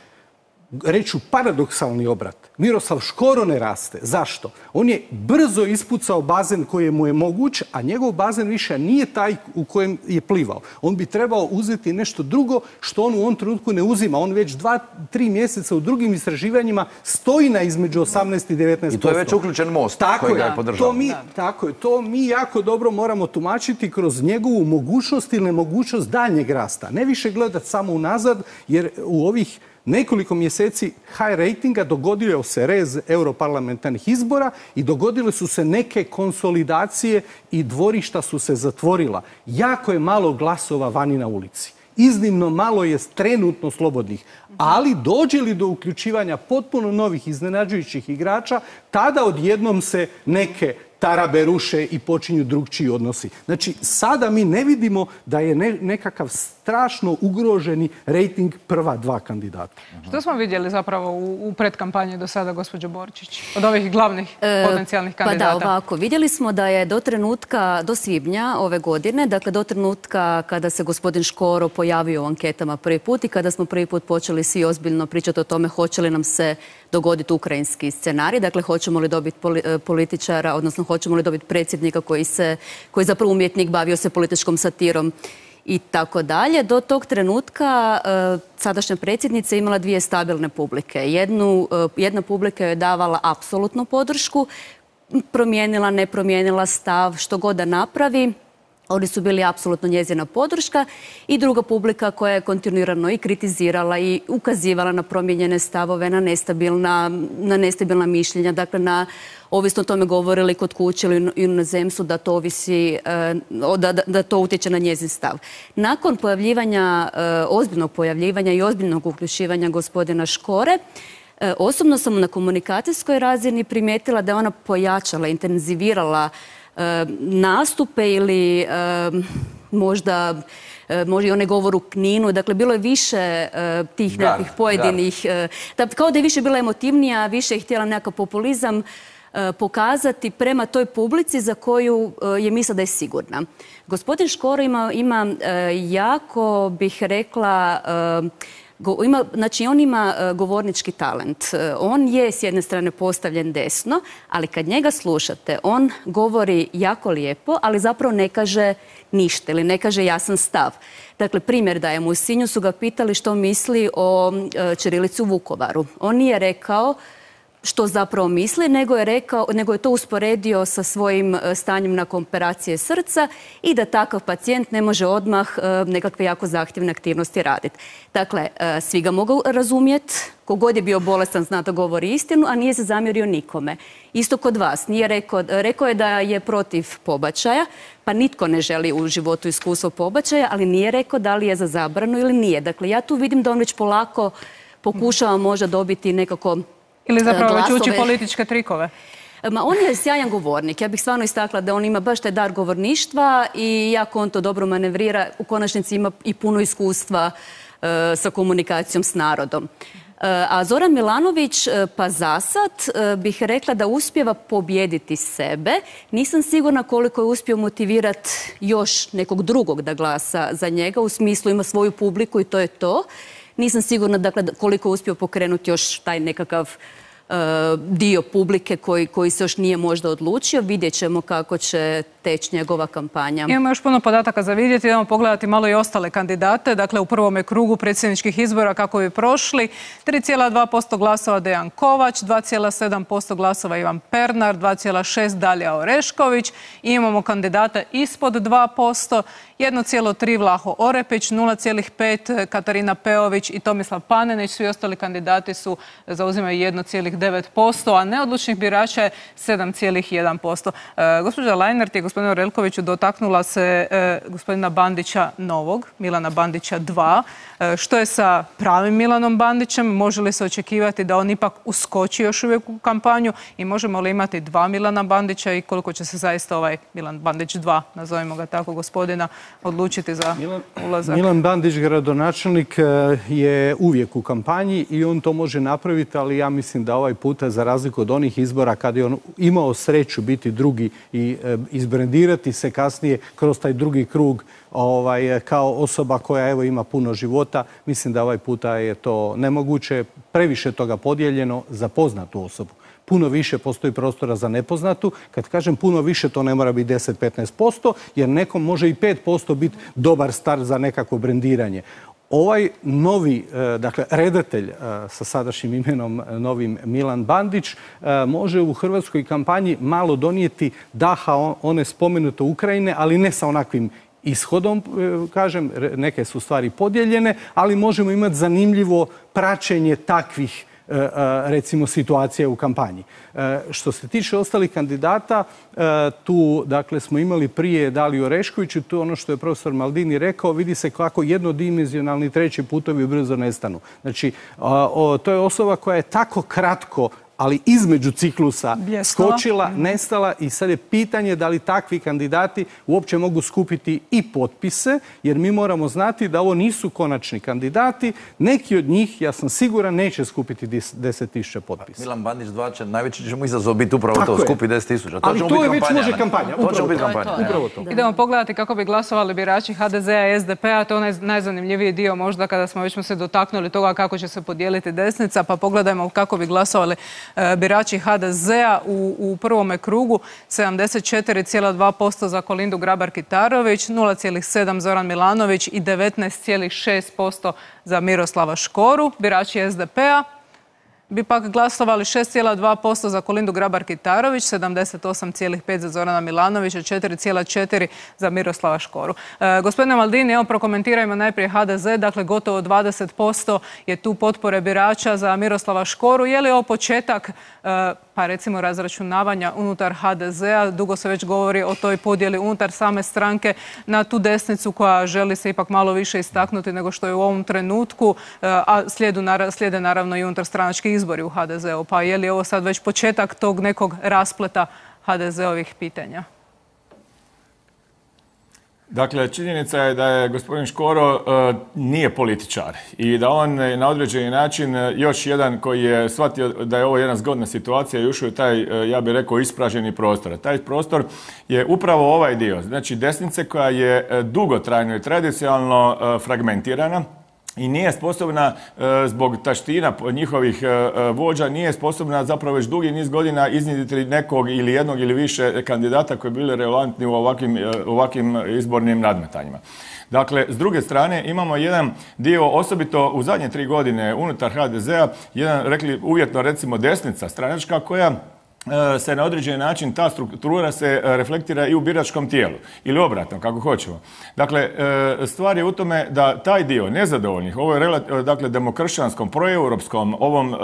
Reću paradoksalni obrat. Miroslav Škoro ne raste. Zašto? On je brzo ispucao bazen koji mu je moguć, a njegov bazen više nije taj u kojem je plivao. On bi trebao uzeti nešto drugo što on u ovom trenutku ne uzima. On već 2-3 mjeseca u drugim istraživanjima stoji na između 18 i 19%.
I to je već uključen most koji ga je podržao.
Tako je. To mi jako dobro moramo tumačiti kroz njegovu mogućnost ili nemogućnost daljnjeg rasta. Ne više gledati samo unazad, jer u ovih nekoliko mjeseci high ratinga dogodio se rez europarlamentarnih izbora i dogodile su se neke konsolidacije i dvorišta su se zatvorila. Jako je malo glasova vani na ulici. Iznimno malo je trenutno slobodnih. Ali dođe li do uključivanja potpuno novih iznenađujućih igrača, tada odjednom se neke tarabe ruše i počinju drugčiji odnosi. Znači, sada mi ne vidimo da je nekakav strašno ugroženi rejting prva dva kandidata.
Što smo vidjeli zapravo u predkampanji do sada, gospođo Borčić, od ovih glavnih potencijalnih kandidata?
Pa da, ovako. Vidjeli smo da je do svibnja ove godine, dakle do trenutka kada se gospodin Škoro pojavio u anketama prvi put i kada smo prvi put počeli svi ozbiljno pričati o tome hoće li nam se dogoditi ukrajinski scenarij, dakle hoćemo li dobiti političara, odnosno hoćemo li dobiti predsjednika koji je zapravo umjetnik, bavio se političkom satirom i tako dalje. Do tog trenutka sadašnja predsjednica imala dvije stabilne publike. Jedna publika je davala apsolutnu podršku, promijenila, ne promijenila stav, što god da napravi. Oni su bili apsolutno njezina podrška i druga publika koja je kontinuirano i kritizirala i ukazivala na promijenjene stavove, na nestabilna mišljenja, dakle ovisno o tome govorili kod kuće ili u inozemstvu da to ovisi, da to utječe na njezin stav. Nakon ozbiljnog pojavljivanja i ozbiljnog uključivanja gospodina Škore, osobno sam na komunikacijskoj razini primijetila da je ona pojačala, intenzivirala nastupe ili možda i onaj govor u Kninu. Dakle, bilo je više tih nekih pojedinih... Kao da je više bila emotivnija, više je htjela nekakav populizam pokazati prema toj publici za koju je mislila da je sigurna. Gospodin Škoro ima jako, bih rekla... Znači, on ima govornički talent. On je s jedne strane postavljen desno, ali kad njega slušate, on govori jako lijepo, ali zapravo ne kaže ništa ili ne kaže jasan stav. Dakle, primjer dajemo, u Sinju su ga pitali što misli o ćirilici u Vukovaru. On nije rekao što zapravo misli, nego je to usporedio sa svojim stanjem nakon operacije srca i da takav pacijent ne može odmah nekakve jako zahtjevne aktivnosti raditi. Dakle, svi ga mogu razumjeti, kogod je bio bolestan zna da govori istinu, a nije se zamjerio nikome. Isto kod vas. Rekao je da je protiv pobačaja, pa nitko ne želi u životu iskustvo pobačaja, ali nije rekao da li je za zabranu ili nije. Dakle, ja tu vidim da on već polako pokušava možda dobiti nekako
ili zapravo već uči političke trikove?
On je sjajan govornik. Ja bih stvarno istakla da on ima baš taj dar govorništva i jako on to dobro manevrira. U konačnici ima i puno iskustva sa komunikacijom s narodom. A Zoran Milanović, pa zasad bih rekla da uspijeva pobijediti sebe. Nisam sigurna koliko je uspio motivirati još nekog drugog da glasa za njega. U smislu ima svoju publiku i to je to. Nisam sigurna koliko je uspio pokrenuti još taj nekakav dio publike koji se još nije možda odlučio. Vidjet ćemo kako će teći njegova kampanja.
Imamo još puno podataka za vidjeti. Idemo pogledati malo i ostale kandidate. Dakle, u prvome krugu predsjedničkih izbora kako bi prošli. 3,2% glasova Dejan Kovač, 2,7% glasova Ivan Pernar, 2,6% Dalija Orešković. Imamo kandidata ispod 2%, 1,3% Vlaho Orepić, 0,5% Katarina Peović i Tomislav Panenić. Svi ostali kandidati zauzimaju 1,9%, a neodlučnih birača je 7,1%. Gospođa Lajnert je gospodinu Orelkoviću dotaknula se gospodina Bandića novog, Milana Bandića 2. Što je sa pravim Milanom Bandićem? Može li se očekivati da on ipak uskoči još uvijek u kampanju i možemo li imati dva Milana Bandića i koliko će se zaista ovaj Milan Bandić 2, nazovimo ga tako, gospodina, odlučiti za ulazak?
Milan Bandić, gradonačelnik, je uvijek u kampanji i on to može napraviti, ali ja mislim da ovaj puta, za razliku od onih izbora kada je on imao sreću biti drugi i izbrendirati se kasnije kroz taj drugi krug kao osoba koja ima puno života, mislim da ovaj puta je to nemoguće. Previše toga podijeljeno za poznatu osobu. Puno više postoji prostora za nepoznatu. Kad kažem puno više, to ne mora biti 10-15%, jer nekom može i 5% biti dobar start za nekako brendiranje. Ovaj novi, dakle, redatelj sa sadašnjim imenom novim Milan Bandić može u hrvatskoj kampanji malo donijeti daha one spomenute Ukrajine, ali ne sa onakvim ishodom, kažem, neke su stvari podijeljene, ali možemo imati zanimljivo praćenje takvih recimo situacija u kampanji. Što se tiče ostalih kandidata, tu dakle smo imali prije Daliju Orešković i tu ono što je profesor Maldini rekao, vidi se kako jednodimenzionalni treći putovi brzo nestanu. Znači, to je osoba koja je tako kratko ali između ciklusa
Bljesnula.
skočila, nestala i sad je pitanje da li takvi kandidati uopće mogu skupiti i potpise, jer mi moramo znati da ovo nisu konačni kandidati. Neki od njih, ja sam siguran, neće skupiti 10.000 potpisa.
Milan Bandić 2 će, najveći će mu izazov biti upravo to, skupi 10.000.
Ali to je već može kampanja.
To će biti kampanja.
Upravo to.
Idemo pogledati kako bi glasovali birači HDZ-a i SDP-a. To je najzanimljiviji dio možda kada smo već se dotaknuli toga kako će se podijeliti desnica, pa pogledajmo kako bi glasovali birači HDZ-a u prvome krugu. 74,2% za Kolindu Grabar-Kitarović, 0,7% Zoran Milanović i 19,6% za Miroslava Škoru. Birači SDP-a bi pak glasovali 6,2% za Kolindu Grabar-Kitarović, 78,5% za Zorana Milanovića, 4,4% za Miroslava Škoru. Gospodine Maldini, evo prokomentirajmo najprije HDZ, dakle gotovo 20% je tu potpore birača za Miroslava Škoru. Je li ovo početak, pa recimo razračunavanja unutar HDZ-a? Dugo se već govori o toj podjeli unutar same stranke na tu desnicu koja želi se ipak malo više istaknuti nego što je u ovom trenutku, a slijede naravno i unutar stranački izbori u HDZ-u. Pa je li ovo sad već početak tog nekog raspleta HDZ-ovih pitanja?
Dakle, činjenica je da je gospodin Škoro nije političar i da on na određeni način još jedan koji je shvatio da je ovo jedna zgodna situacija i ušao je taj, ja bih rekao, ispraženi prostor. Taj prostor je upravo ovaj dio, znači desnice koja je dugotrajno i tradicionalno fragmentirana i nije sposobna zbog taština njihovih vođa, nije sposobna zapravo već dugi niz godina iznjediti nekog ili jednog ili više kandidata koji bili relevantni u ovakvim izbornim nadmetanjima. Dakle, s druge strane imamo jedan dio, osobito u zadnje 3 godine unutar HDZ-a, jedan, rekli uvjetno recimo desnica stranačka koja se na određeni način, ta struktura se reflektira i u biračkom tijelu. Ili obratno, kako hoćemo. Dakle, stvar je u tome da taj dio nezadovoljnih, ovo je dakle demokršćanskom, proeuropskom, ovom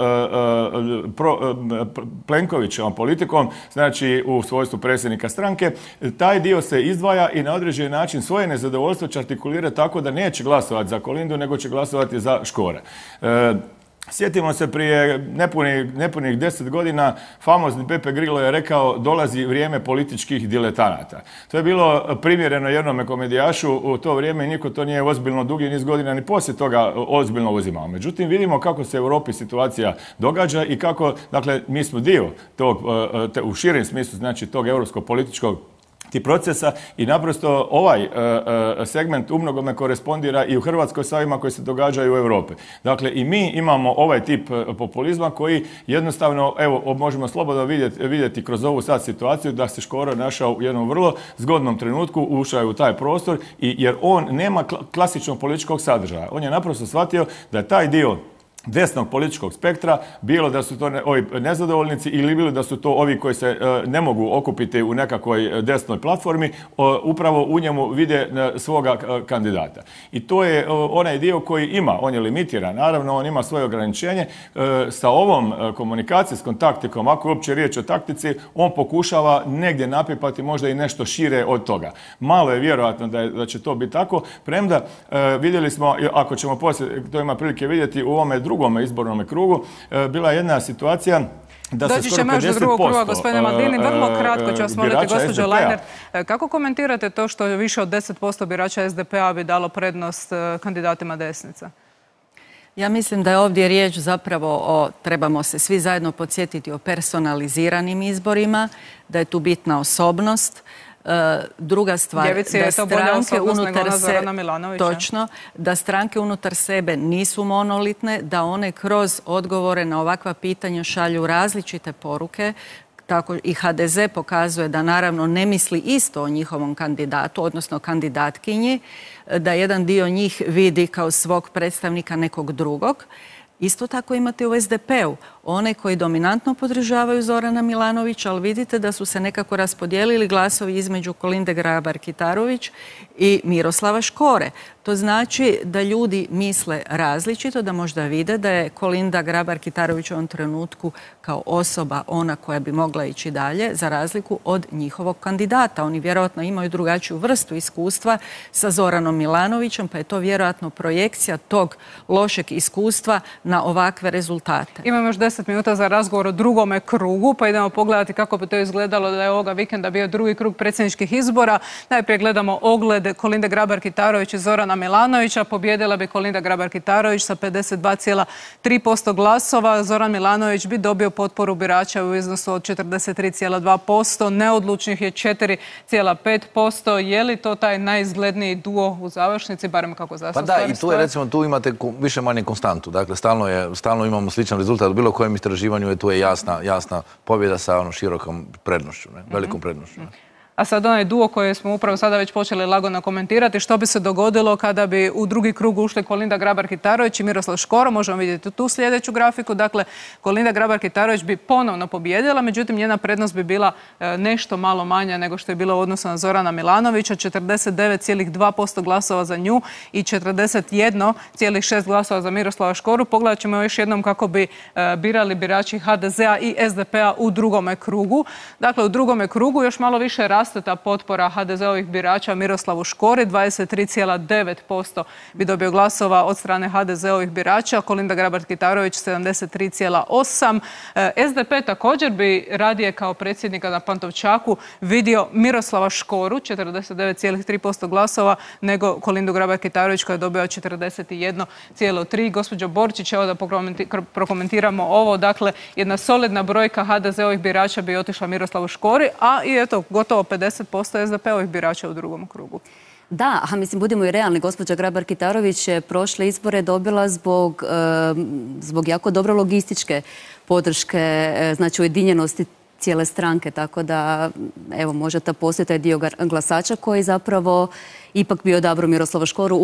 Plenkovićevom politikom, znači u svojstvu predsjednika stranke, taj dio se izdvaja i na određeni način svoje nezadovoljstvo će artikulirati tako da neće glasovati za Kolindu, nego će glasovati za Škora. Sjetimo se prije nepunih 10 godina, famozni Pepe Grillo je rekao dolazi vrijeme političkih diletanata. To je bilo primjereno jednome komedijašu u to vrijeme i niko to nije ozbiljno dugi niz godina ni poslije toga ozbiljno uzimao. Međutim, vidimo kako se u Europi situacija događa i kako, dakle, mi smo dio tog, u širem smislu, znači tog europskog političkog procesa i naprosto ovaj segment umnogome korespondira i u Hrvatskoj sa ovima koji se događaju u Europi. Dakle, i mi imamo ovaj tip populizma koji jednostavno, evo, možemo slobodno vidjeti kroz ovu sad situaciju da se Škoro našao u jednom vrlo zgodnom trenutku, ušao je u taj prostor jer on nema klasičnog političkog sadržaja. On je naprosto shvatio da je taj dio desnog političkog spektra, bilo da su to ovi nezadovoljnici ili bilo da su to ovi koji se ne mogu okupiti u nekakvoj desnoj platformi, upravo u njemu vide svoga kandidata. I to je onaj dio koji ima, on je limitiran, naravno on ima svoje ograničenje. Sa ovom komunikacijskom taktikom, ako je uopće riječ o taktici, on pokušava negdje napipati možda i nešto šire od toga. Malo je vjerojatno da će to biti tako, premda vidjeli smo, ako ćemo poslije, to ima prilike vidjeti u ovome drugom izbornom krugu, bila je jedna situacija da se skoro 50%
doći ćemo još do drugog kruga, gospodine Maldini. Vrlo kratko ću vas moliti, gospođo Lajner. Kako komentirate to što više od 10% birača SDP-a bi dalo prednost kandidatima desnica?
Ja mislim da je ovdje riječ zapravo o, trebamo se svi zajedno podsjetiti o personaliziranim izborima, da je tu bitna osobnost. Druga stvar, da stranke unutar sebe, točno, da stranke unutar sebe nisu monolitne, da one kroz odgovore na ovakva pitanja šalju različite poruke. Tako i HDZ pokazuje da naravno ne misli isto o njihovom kandidatu, odnosno kandidatkinji, da jedan dio njih vidi kao svog predstavnika nekog drugog. Isto tako imate u SDP-u one koji dominantno podržavaju Zorana Milanovića, ali vidite da su se nekako raspodijelili glasovi između Kolinde Grabar-Kitarović i Miroslava Škore. To znači da ljudi misle različito, da možda vide da je Kolinda Grabar-Kitarović u ovom trenutku kao osoba ona koja bi mogla ići dalje, za razliku od njihovog kandidata. Oni vjerojatno imaju drugačiju vrstu iskustva sa Zoranom Milanovićem, pa je to vjerojatno projekcija tog lošeg iskustva na ovakve rezultate.
Imamo još 10 minuta za razgovor o drugome krugu, pa idemo pogledati kako bi to izgledalo da je ovoga vikenda bio drugi krug predsjedničkih izbora. Najprije gledamo ogled Kolinde Grabar-Kitarović i Zorana Milanovića. Pobjedila bi Kolinda Grabar-Kitarović sa 52,3% glasova. Zoran Milanović bi dobio potporu birača u iznosu od 43,2%. Neodlučnih je 4,5%. Je li to taj najizgledniji duo u završnici, barem kako za
Pa da, i tu je recimo, tu imate više manje konstantu. Dakle, stalno imamo sličan rezultat. U bilo kojem istraživanju tu je jasna pobjeda sa širokom prednošću, velikom prednošću.
A sad onaj duo koji smo upravo sada već počeli lagano komentirati, što bi se dogodilo kada bi u drugi krug ušli Kolinda Grabar-Kitarović i Miroslav Škoro. Možemo vidjeti tu sljedeću grafiku. Dakle, Kolinda Grabar-Kitarović bi ponovno pobjedila, međutim njena prednost bi bila nešto malo manja nego što je bila u odnosu na Zorana Milanovića, 49,2% glasova za nju i 41,6% glasova za Miroslava Škoru. Pogledat ćemo još jednom kako bi birali birači HDZ-a i SDP-a u drugome krugu. Dakle, u drugome krugu još malo više raste ta potpora HDZ-ovih birača Miroslavu Škori, 23,9% bi dobio glasova od strane HDZ-ovih birača, Kolinda Grabar-Kitarović 73,8%. SDP također bi radije kao predsjednika na Pantovčaku vidio Miroslava Škoru, 49,3% glasova, nego Kolindu Grabar-Kitarović koja je dobila 41,3%. Gospođo Borčić, evo da prokomentiramo ovo. Dakle, jedna solidna brojka HDZ-ovih birača bi otišla Miroslavu Škori, a i eto, gotovo 50% SDP-ovih birača u drugom krugu.
Da, a mislim, budimo i realni, gospođa Grabar-Kitarović je prošle izbore dobila zbog jako dobro logističke podrške, znači ujedinjenosti cijele stranke, tako da evo možda postoji taj dio glasača koji zapravo ipak bi odabrao Miroslava Škoru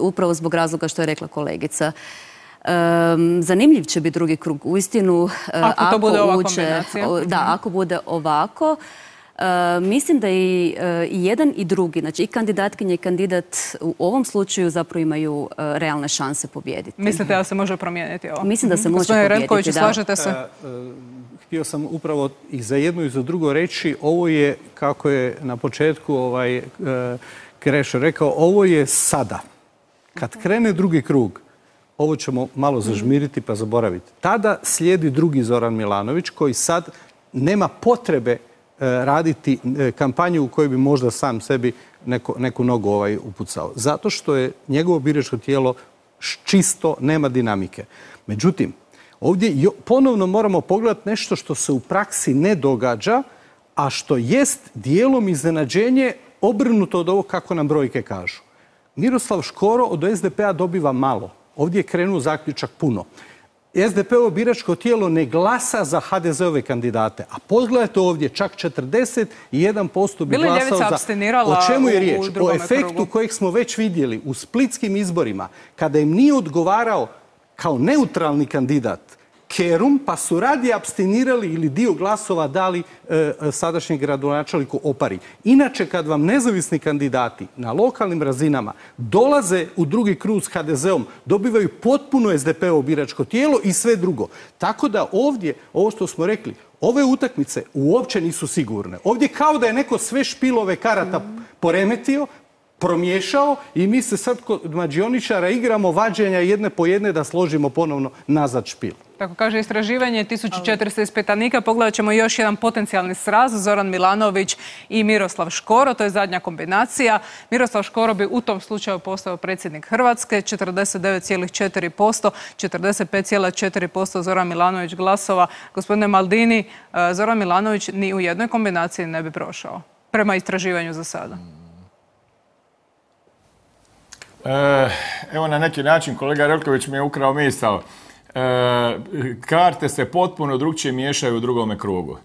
upravo zbog razloga što je rekla kolegica. Zanimljiv će biti drugi krug. Uistinu,
ako bude ova kombinacija.
Da, ako bude ovako. Mislim da i jedan i drugi, znači i kandidatkinja i kandidat u ovom slučaju zapravo imaju realne šanse pobijediti.
Mislite da se može promijeniti ovo?
Mislim da se može
Gospodine
pobijediti,
Renković,
da.
slažete se?
Htio sam upravo i za jedno i za drugo reći, ovo je, kako je na početku Krešo rekao, ovo je sada. Kad krene drugi krug, ovo ćemo malo zažmiriti pa zaboraviti. Tada slijedi drugi Zoran Milanović koji sad nema potrebe raditi kampanju u kojoj bi možda sam sebi neku nogu upucao. Zato što je njegovo biračko tijelo čisto, nema dinamike. Međutim, ovdje ponovno moramo pogledati nešto što se u praksi ne događa, a što jest dijelom iznenađenje obrnuto od ovog kako nam brojke kažu. Miroslav Škoro od SDP-a dobiva malo. Ovdje je krenuo zaključak puno. SDP-ovo biračko tijelo ne glasa za HDZ-ove kandidate. A pogledajte ovdje, čak 41% bi glasao za... O čemu je riječ? O efektu kojeg smo već vidjeli u splitskim izborima, kada im nije odgovarao kao neutralni kandidat Kerum, pa su radije apstinirali ili dio glasova dali sadašnjem gradonačelniku Opari. Inače, kad vam nezavisni kandidati na lokalnim razinama dolaze u drugi krug s HDZ-om, dobivaju potpuno SDP-ovo biračko tijelo i sve drugo. Tako da ovdje, ovo što smo rekli, ove utakmice uopće nisu sigurne. Ovdje kao da je neko sve špilove karata poremetio, promiješao i mi se sad kod mađioničara igramo vađenja jedne po jedne da složimo ponovno nazad špil.
Tako kaže istraživanje 1400 ispitanika. Pogledat ćemo još jedan potencijalni sraz. Zoran Milanović i Miroslav Škoro. To je zadnja kombinacija. Miroslav Škoro bi u tom slučaju postao predsjednik Hrvatske. 49,4%, 45,4% Zoran Milanović glasova. Gospodine Maldini, Zoran Milanović ni u jednoj kombinaciji ne bi prošao. Prema istraživanju za sada.
Evo na neki način kolega Relković mi je ukrao misao. Karte se potpuno drukčije miješaju u drugome krugu.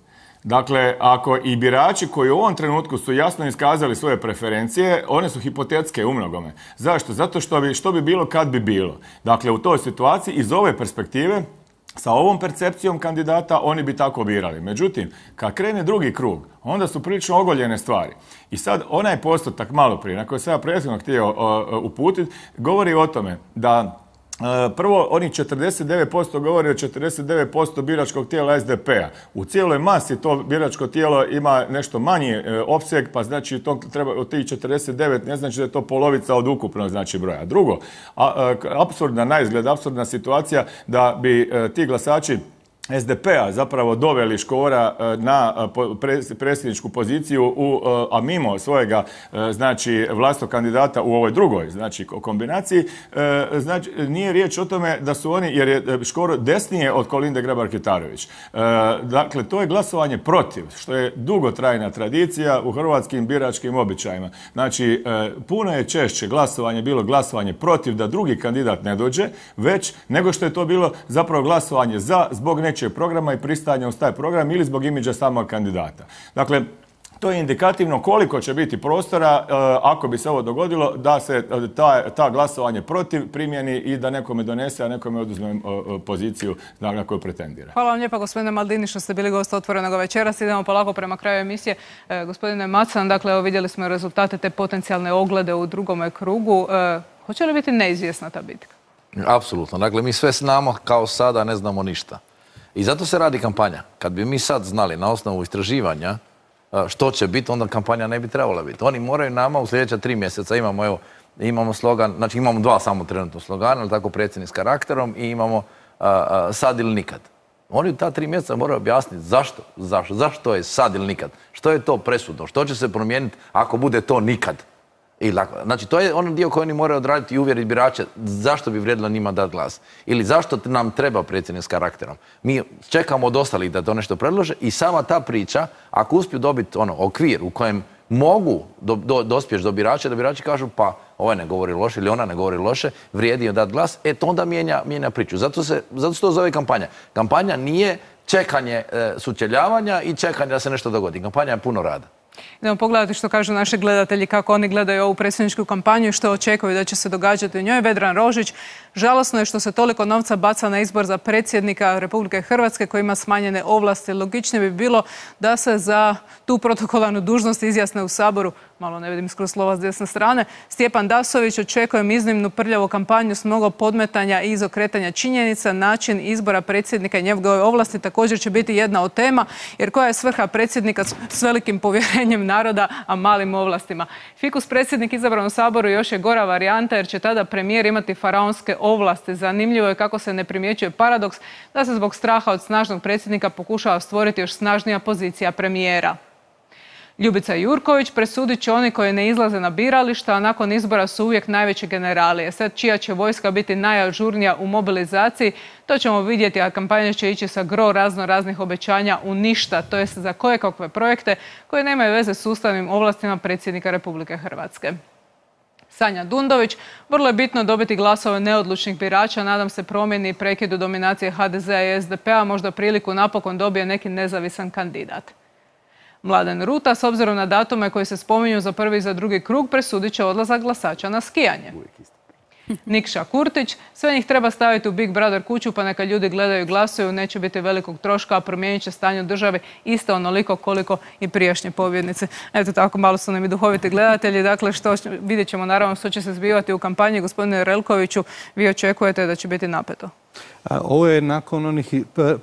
Dakle, ako i birači koji u ovom trenutku su jasno iskazali svoje preferencije, one su hipotetske u mnogome. Zašto? Zato što bi bilo kad bi bilo. Dakle, u toj situaciji iz ove perspektive, sa ovom percepcijom kandidata, oni bi tako birali. Međutim, kad krene drugi krug, onda su prilično ogoljene stvari. I sad onaj postotak malo prije, na koji sam ja prethodno htio uputiti, govori o tome da Prvo, onih 49% govori o 49% biračkog tijela SDP-a. U cijeloj masi to biračko tijelo ima nešto manji opseg, pa znači to treba od tih 49, ne znači da je to polovica od ukupnog znači broja. Drugo, apsurdna naizgled, apsurdna situacija da bi ti glasači SDP-a zapravo doveli Škora na predsjedničku poziciju, a mimo svojega znači vlastnog kandidata u ovoj drugoj znači kombinaciji. Znači, nije riječ o tome da su oni, jer je Škoro desnije od Kolinde Grabar-Kitarović. Dakle, to je glasovanje protiv, što je dugotrajna tradicija u hrvatskim biračkim običajima. Znači, puno je češće glasovanje bilo glasovanje protiv da drugi kandidat ne dođe, već nego što je to bilo zapravo glasovanje za zbog nečeg programa i pristajanja uz taj program ili zbog imidža samog kandidata. Dakle, to je indikativno koliko će biti prostora ako bi se ovo dogodilo da se ta glasovanje protiv primjeni i da nekome donese, a nekome oduzme poziciju na koju pretendira.
Hvala vam lijepa, gospodine Maldini, što ste bili gost Otvorenog večeras. Idemo polako prema kraju emisije. Gospodine Macan, dakle, evo vidjeli smo rezultate te potencijalne oglede u drugome krugu. Hoće li biti neizvjesna ta bitka?
Apsolutno. Dakle, mi sve znamo kao sada, ne znamo ništa. I zato se radi kampanja. Kad bi mi sad znali na osnovu istraživanja što će biti, onda kampanja ne bi trebala biti. Oni moraju nama u sljedeća 3 mjeseca, imamo slogan, znači imamo 2 samo trenutno slogana, ali tako predsjednik s karakterom i imamo sad ili nikad. Oni u ta 3 mjeseca moraju objasniti zašto je sad ili nikad. Što je to presudno, što će se promijeniti ako bude to nikad. Znači, to je onaj dio koji oni moraju odraditi i uvjeriti birače zašto bi vrijedilo njima dati glas. Ili zašto nam treba predsjednik s karakterom. Mi čekamo od ostalih da to nešto predlože i sama ta priča, ako uspiju dobiti okvir u kojem mogu dospjeti do birača, da birači kažu pa ovaj ne govori loše ili ona ne govori loše, vrijedi joj dati glas, to onda mijenja priču. Zato se to zove kampanja. Kampanja nije čekanje sučeljavanja i čekanje da se nešto dogodi. Kampanja je puno rada.
Idemo pogledati što kažu naši gledatelji, kako oni gledaju ovu predsjedničku kampanju i što očekuju da će se događati u njoj. Vedran Rožić: žalosno je što se toliko novca baca na izbor za predsjednika Republike Hrvatske koji ima smanjene ovlasti. Logičnije bi bilo da se za tu protokolarnu dužnost izjasne u Saboru. Malo ne vidim skroz slova s desne strane. Stjepan Dasović: očekujem iznimnu prljavu kampanju s mnogo podmetanja i izokretanja činjenica. Način izbora predsjednika i njegove ovlasti također će biti jedna od tema, jer koja je svrha predsjednika s velikim povjerenjem naroda, a malim ovlastima? Fikus predsjednik izabran u Saboru još je gora varijanta, jer će tada premijer imati faraonske ovlasti. Zanimljivo je kako se ne primjećuje paradoks da se zbog straha od snažnog predsjednika pokušava stvoriti još snažnija pozicija premijera. Ljubica Jurković: presudit će oni koji ne izlaze na birališta, a nakon izbora su uvijek najveći generali. Sad čija će vojska biti najažurnija u mobilizaciji, to ćemo vidjeti, a kampanja će ići sa gro raznih obećanja u ništa, to jest za kojekakve projekte koje nemaju veze s ustavnim ovlastima predsjednika Republike Hrvatske. Sanja Dundović: vrlo je bitno dobiti glasove neodlučnih birača, nadam se promjeni i prekidu dominacije HDZ-a i SDP-a, možda priliku napokon dobije neki nezavisan kandidat. Mladen Ruta: s obzirom na datume koji se spominju za prvi i za drugi krug, presudit će odlazak glasača na skijanje. Nikša Kurtić: sve njih treba staviti u Big Brother kuću pa neka ljudi gledaju i glasuju, neće biti velikog troška, a promijenit će stanje u državi isto onoliko koliko i prijašnje pobjednice. Eto tako, malo su nam i duhoviti gledatelji. Dakle, vidjet ćemo naravno što će se zbivati u kampanji. Gospodine Relkoviću, vi očekujete da će biti napeto?
Ovo je nakon onih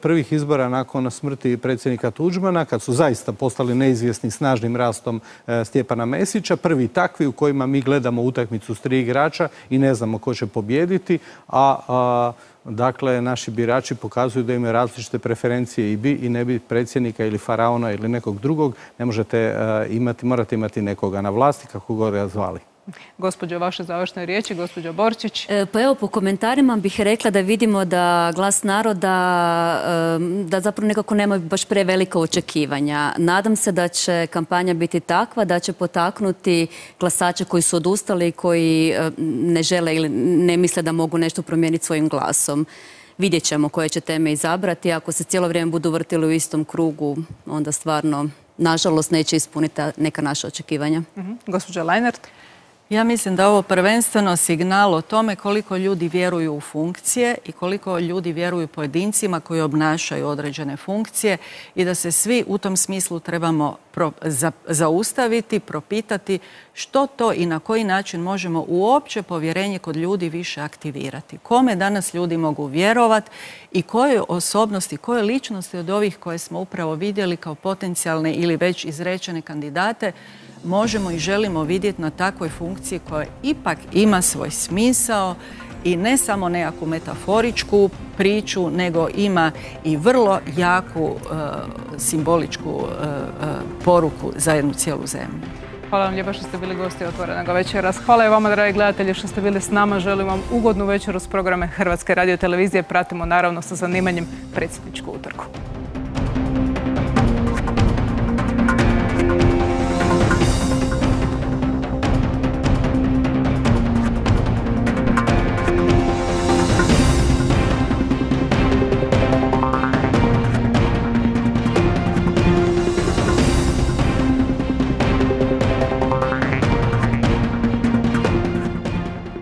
prvih izbora, nakon smrti predsjednika Tuđmana, kad su zaista postali neizvjesni snažnim rastom Stjepana Mesića, prvi takvi u kojima mi gledamo utakmicu s 3 igrača i ne znamo ko će pobijediti, dakle, naši birači pokazuju da imaju različite preferencije i bi i ne bi predsjednika ili faraona ili nekog drugog. Ne možete morate imati nekoga na vlasti, kako god ga zvali.
Gospođo, vaše završne riječi, gospođo Borčić.
Pa evo, po komentarima bih rekla da vidimo da Glas naroda, da zapravo nekako nema baš prevelika očekivanja. Nadam se da će kampanja biti takva da će potaknuti glasače koji su odustali, koji ne žele ili ne misle da mogu nešto promijeniti svojim glasom. Vidjet ćemo koje će teme izabrati. Ako se cijelo vrijeme budu vrtili u istom krugu, onda stvarno, nažalost, neće ispuniti neka naša očekivanja.
Gospođa Leinert.
Ja mislim da je ovo prvenstveno signal o tome koliko ljudi vjeruju u funkcije i koliko ljudi vjeruju pojedincima koji obnašaju određene funkcije i da se svi u tom smislu trebamo zaustaviti, propitati što to i na koji način možemo uopće povjerenje kod ljudi više aktivirati. Kome danas ljudi mogu vjerovati i koje osobnosti, koje ličnosti od ovih koje smo upravo vidjeli kao potencijalne ili već izrečene kandidate možemo i želimo vidjeti na takvoj funkciji koja ipak ima svoj smisao i ne samo nekakvu metaforičku priču, nego ima i vrlo jaku simboličku poruku za jednu cijelu zemlju.
Hvala vam lijepa što ste bili gosti Otvorenog večeras. Hvala i vama, dragi gledatelji, što ste bili s nama. Želim vam ugodnu večeru s programe Hrvatske radiotelevizije. Pratimo naravno sa zanimanjem predsjedničku utrku.